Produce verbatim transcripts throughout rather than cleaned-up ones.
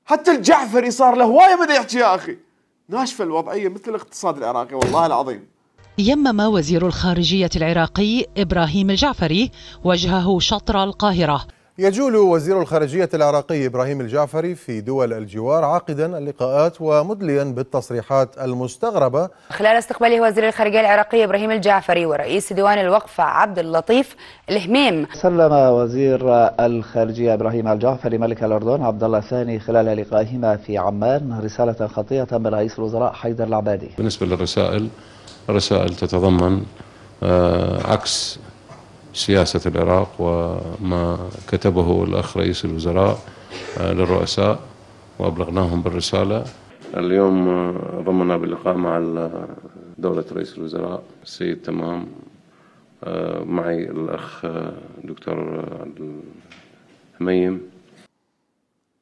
حتى الجعفري صار له هوايه بدا يحكي يا اخي. ناشفه الوضعيه مثل الاقتصاد العراقي والله العظيم. يمم وزير الخارجية العراقي إبراهيم الجعفري وجهه شطر القاهرة. يجول وزير الخارجية العراقي إبراهيم الجعفري في دول الجوار عاقدا اللقاءات ومدليا بالتصريحات المستغربة خلال استقباله وزير الخارجية العراقي إبراهيم الجعفري ورئيس ديوان الوقف عبد اللطيف الهميم. سلم وزير الخارجية إبراهيم الجعفري ملك الأردن عبد الله الثاني خلال لقائهما في عمان رسالة خطية من رئيس الوزراء حيدر العبادي. بالنسبة للرسائل، الرسائل تتضمن عكس سياسة العراق وما كتبه الأخ رئيس الوزراء للرؤساء وأبلغناهم بالرسالة. اليوم ضمنا باللقاء مع دولة رئيس الوزراء السيد تمام، معي الأخ دكتور هميم.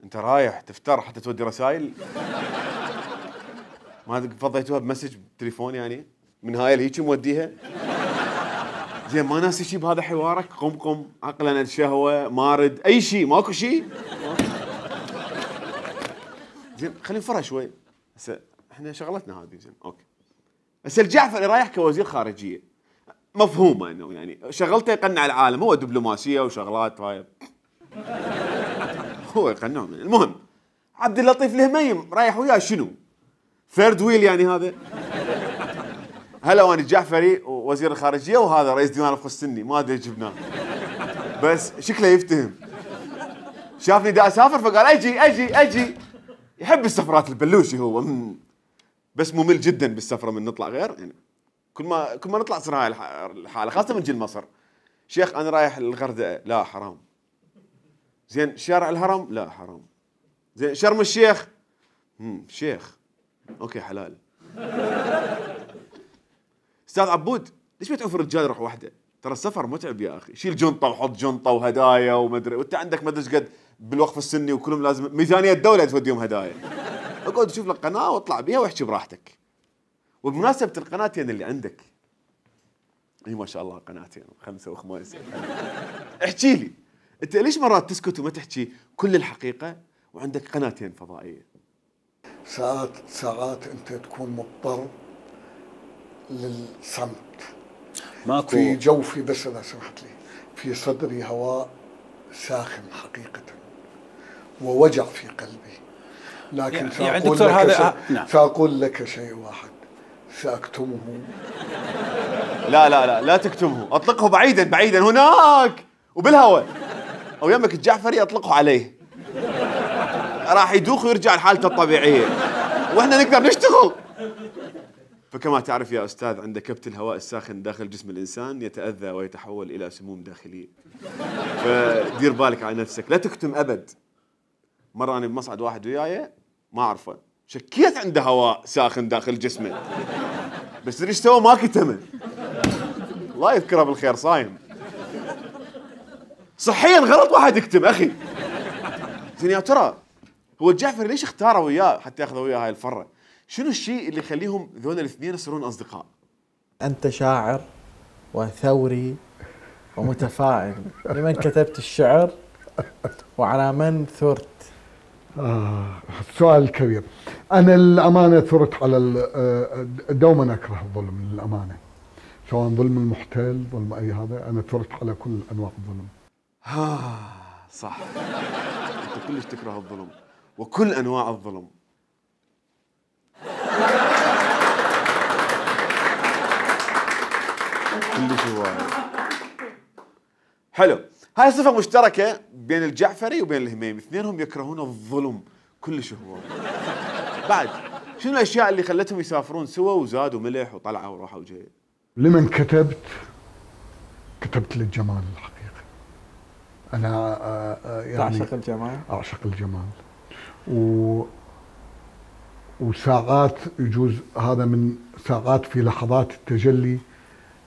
أنت رايح تفتر حتى تودي رسائل؟ ما فضيتوها بمسج بتليفون يعني؟ من هاي الهيك موديها؟ زين ما ناسي شيء بهذا حوارك؟ قم قم عقلا الشهوة مارد أي شيء، ماكو شيء؟ زين خلينا نفرها شوي. هسه احنا شغلتنا هذه زين اوكي. هسه الجعفري رايح كوزير خارجية، مفهومة انه يعني شغلته يقنع العالم، هو دبلوماسية وشغلات هاي هو يقنعهم. المهم عبد اللطيف الهميم رايح وياه شنو؟ ثيرد ويل يعني هذا؟ هلا وانا الجعفري ووزير الخارجيه وهذا رئيس ديوان الوقف السني، ما ادري جبناه بس شكله يفتهم. شافني دا اسافر فقال اجي اجي اجي. يحب السفرات البلوشي هو، بس ممل جدا بالسفره من نطلع غير يعني كل ما كل ما نطلع تصير هاي الحاله، خاصه من جي لمصر. شيخ انا رايح الغردقه، لا حرام. زين شارع الهرم، لا حرام. زين شرم الشيخ، امم شيخ اوكي حلال. استاذ عبود ليش ما تعوف الرجال يروح وحده؟ ترى السفر متعب يا اخي، شيل جنطه وحط جنطه وهدايا ومدري، وانت عندك ما ادري ايش قد بالوقف السني وكلهم لازم ميزانيه الدوله توديهم هدايا. اقعد شوف لك قناه واطلع بيها واحكي براحتك. وبمناسبه القناتين اللي عندك، اي ما شاء الله قناتين خمسه وخماسه، احكي لي انت ليش مرات تسكت وما تحكي كل الحقيقه وعندك قناتين فضائيه؟ ساعات ساعات انت تكون مضطر للصمت. ماكو في جوفي، بس اذا سمحت لي، في صدري هواء ساخن حقيقة ووجع في قلبي، لكن يعني سأقول يعني دكتور لك هذا شيء نعم. سأقول لك شيء واحد سأكتمه. لا لا لا لا تكتمه، اطلقه بعيدا بعيدا هناك وبالهواء، او يمك الجعفري اطلقه عليه راح يدوخ ويرجع لحالته الطبيعيه واحنا نقدر نشتغل. فكما تعرف يا أستاذ، عند كبت الهواء الساخن داخل جسم الإنسان يتأذى ويتحول إلى سموم داخلية. فدير بالك على نفسك، لا تكتم أبد. مرة أنا بمصعد واحد وياي ما أعرفه، شكيت عنده هواء ساخن داخل جسمه، بس تدري ايش سوى؟ ما كتمه. الله يذكره بالخير، صايم. صحيا غلط واحد يكتم أخي. زين يا ترى هو الجعفري ليش اختاره وياه حتى ياخذه وياه هاي الفرة؟ شنو الشيء اللي يخليهم ذول الاثنين يصيرون اصدقاء؟ انت شاعر وثوري ومتفائل، لمن كتبت الشعر وعلى من ثرت؟ آه السؤال الكبير. انا الامانه ثرت على دوما اكره الظلم للامانه، سواء ظلم المحتل ظلم اي هذا، انا ثرت على كل انواع الظلم. ها صح، انت كلش تكره الظلم وكل انواع الظلم. كلش هواي حلو. هاي صفة مشتركة بين الجعفري وبين الهميم، اثنينهم يكرهون الظلم كلش هواي. بعد شنو الاشياء اللي خلتهم يسافرون سوا وزادوا ملح وطلعوا وراحوا وجاي؟ لمن كتبت كتبت للجمال الحقيقة. انا يعني تعشق الجمال؟ اعشق الجمال و وساعات يجوز هذا من ساعات في لحظات التجلي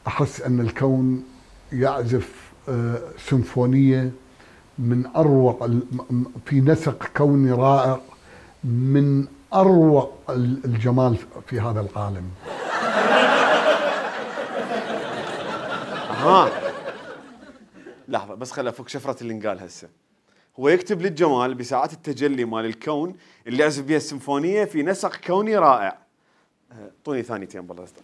أحس أن الكون يعزف سيمفونية من أروع، في نسق كوني رائع من أروع الجمال في هذا العالم. ها لحظة بس خل أفك شفرة اللي انقال هسه. هو يكتب للجمال بساعات التجلي مال الكون اللي يعزف بها السيمفونيه في نسق كوني رائع. اعطوني ثانيتين بالله اصدق.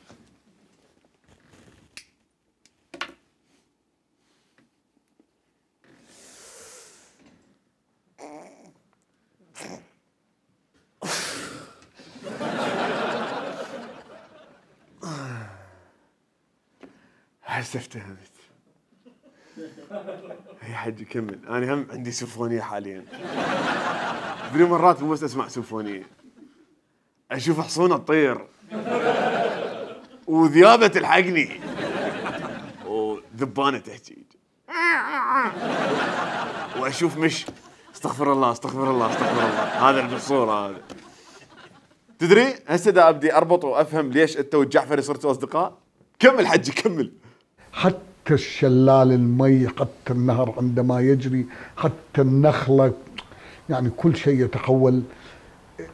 هسه افتهمت. يا حجي كمل، انا هم عندي سيمفونيه حاليا. بدي مرات مو بس اسمع سيمفونيه، اشوف حصونه تطير وذيابه تلحقني وذبانه تحكي واشوف مش استغفر الله استغفر الله استغفر الله. هذا بالصوره هذا. تدري هسه دا ابدي اربط وافهم ليش انت والجعفري صرتوا اصدقاء. كمل حجي كمل. حتى الشلال المي، حتى النهر عندما يجري، حتى النخلة، يعني كل شيء يتحول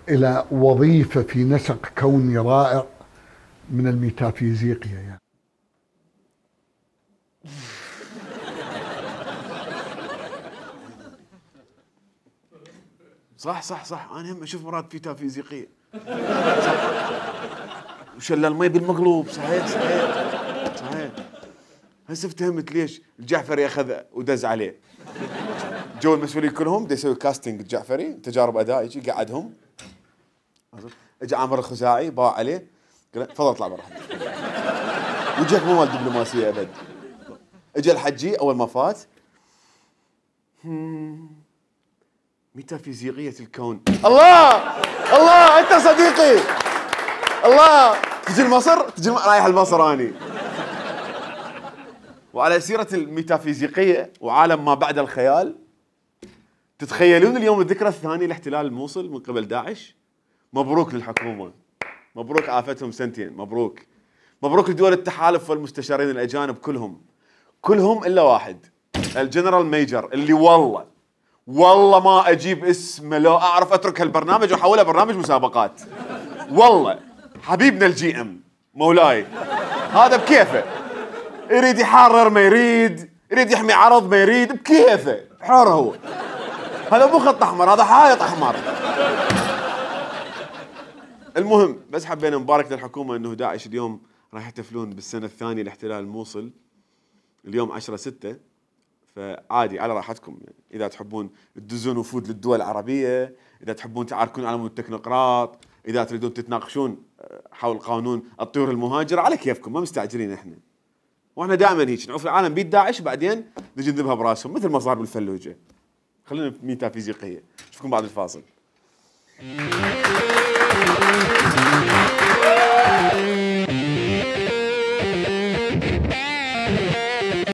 إلى وظيفة في نسق كوني رائع من الميتافيزيقيا يعني. صح صح صح، أنا هم أشوف مرات ميتافيزيقية. وشلال المي بالمقلوب. صحيح صحيح صحيح. هسه افتهمت ليش الجعفري اخذ ودز عليه. جو المسؤولين كلهم دا يسوي كاستنج الجعفري، تجارب اداء، يجي قعدهم. اجى عامر الخزاعي باع عليه، قال تفضل اطلع برا. وجهك مو مال دبلوماسيه ابد. اجى الحجي اول ما فات، ميتافيزيقيه الكون. الله الله انت صديقي. الله تجي لمصر، تجي رايح لمصر اني. وعلى سيرة الميتافيزيقية وعالم ما بعد الخيال، تتخيلون اليوم الذكرى الثانية لاحتلال الموصل من قبل داعش؟ مبروك للحكومة، مبروك عافتهم سنتين، مبروك مبروك لدول التحالف والمستشارين الأجانب كلهم كلهم إلا واحد، الجنرال ميجر اللي والله والله ما أجيب اسمه لو أعرف أترك هالبرنامج وأحوله برنامج مسابقات. والله حبيبنا الجي ام مولاي هذا بكيفه، يريد يحرر ما يريد، يريد يحمي عرض ما يريد، بكيفه حر هو. هذا مو خط احمر، هذا حائط احمر. المهم بس حبينا نبارك للحكومه انه داعش اليوم راح يحتفلون بالسنه الثانيه لاحتلال الموصل اليوم عشرة ستة، فعادي على راحتكم يعني. اذا تحبون تدزون وفود للدول العربيه، اذا تحبون تعاركون على مود التكنوقراط، اذا تريدون تتناقشون حول قانون الطيور المهاجره، على كيفكم، ما مستعجلين احنا. واحنا دائما هيك نعوف العالم بيد داعش، بعدين نجي نذبها براسهم مثل ما صار بالفلوجه. خلينا ميتافيزيقيه. نشوفكم بعد الفاصل.